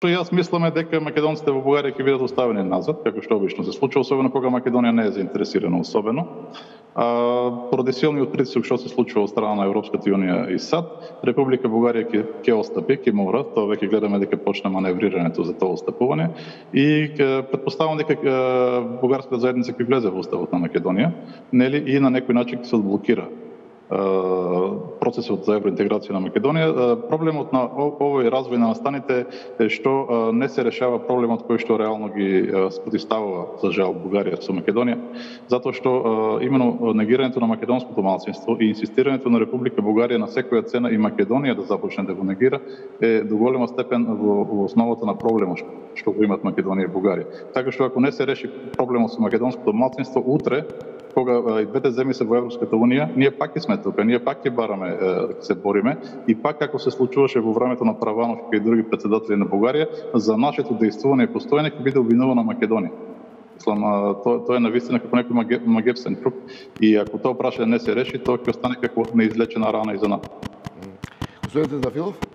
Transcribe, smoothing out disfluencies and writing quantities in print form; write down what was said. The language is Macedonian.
Јас мислам дека македонците во Бугарија ќе бидат оставени назад, како што обично се случува, особено кога Македонија не е заинтересирана особено. Поради силниот притисок што се случува од страна на Европската унија и САД, Република Бугарија ќе отстапи, ќе мора, тоа веќе гледаме дека почна маневрирањето за тоа отстапување и претпоставам дека бугарската заедница ќе влезе во уставот на Македонија, нели, и на некој начин ќе се одблокира процесот за евроинтеграција на Македонија. Проблемот на овој развој на настаните е што не се решава проблемот кој што реално ги спротивставува за жал Бугарија со Македонија, затоа што именно негирањето на македонското малцинство и инсистирањето на Република Бугарија на секоја цена и Македонија да започне да го негира е до голема степен во основата на проблемот што го имат Македонија и Бугарија. Така што ако не се реши проблемот со македонското малцинство, утре кога и двете земји се во Европската унија, ние пак ќе сме тука, ние пак ќе бараме, се бориме и пак како се случуваше во времето на Праванов и други претседатели на Бугарија, за нашето дејствување и постоење ќе биде обвинувана Македонија. Мислам, тоа е навистина како некој магепсен круг и ако тоа прашање не се реши, тоа ќе остане како неизлечена рана и за нас. Господин Тендафилов?